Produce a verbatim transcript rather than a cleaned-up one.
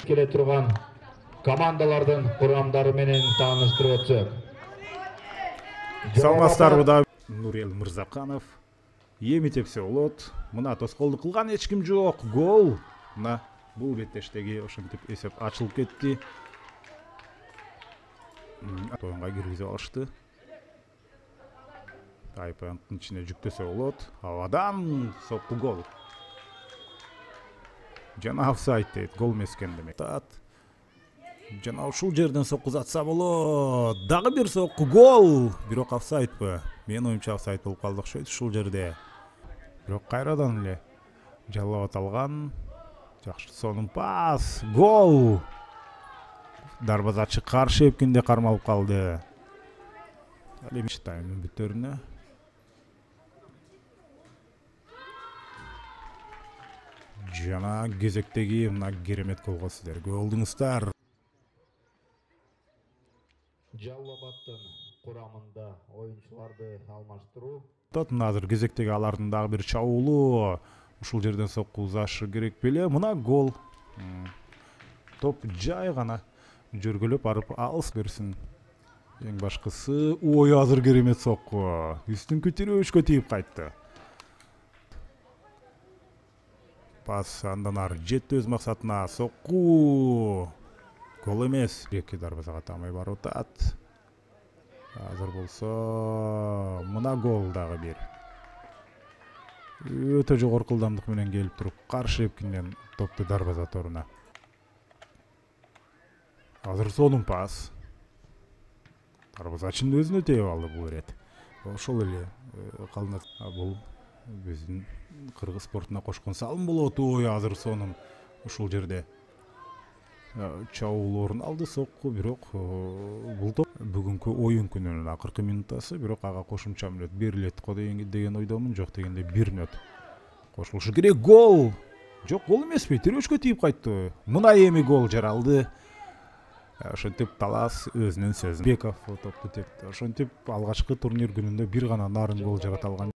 келе турган командалардын курамдары менен тааныштырып өтсөк. Саламатсыздарбы да Нурел Мырзаканов. Эми тепсе болот. Мына тоскоолдук кылган эч ким жок. Гол. Мына бул беттештеги ошентип эсеп ачылып кетти. Оюнга киргизип алышты. Айпанттын ичине жүктөсө болот. Абадан сопку гол. Жана офсайд дейт, гол эмес экен демек. Жана ушул жерден соккузатса болот. Дагы бир сокку гол. Бирок офсайдпы? Мен оюмча офсайд болуп калды окшойт ушул жерде. Бирок кайрадан эле жалап аталган. Жакшы сонун пас. Гол. Дарбазачы каршы эпкинде кармалып калды. Ал эми таймдын бүтөрүнө. Жана кезектеги мына керемет голго сиздерге болдуңуздар. Жаллабаттын курамында оюнчуларды алмаштыруу. Мына азыр кезектеги алардын дагы бир чабуулу. Ушул жерден соккузашы керек беле? Мына гол. Топ жай гана жөргөлөп барып алыс берсин. Эң башкысы, ой, азыр керемет сокку. Үстүн көтөрүшкө тийип кайтты. Пас андан ары жетти өз максатына. Сокку. Гол эмес. Эки дарбазага тамай барып атат. Азыр болсо мына гол дагы бир. Өтө жогорку ылдамдык менен келип туруп, каршы эпкинден топту дарбаза торуна. Азыр сонун пас. Дарбазачынын өзүнө тээп алды бул ирет. Ошол эле калынат. Бул биздин кыргыз спортуна кошкон салым болот. Ой, азыр сонун ушул жерде чабуул орун алды сокку, бирок бул топ бүгүнкү оюн күнүнүн акыркы минутасы, бирок ага кошумча мүнөт берилет го деген ойдомун. Жок дегенде бир мүнөт кошулушу керек. Гол. Жок, гол эмеспи? Тирөөчкө тийип кайтты. Мына эми гол жаралды. Ошентип Талас өзүнүн сөзүн Беков топту тепти. Ошентип алгачкы турнир күнүндө бир гана нарын гол жарата алган.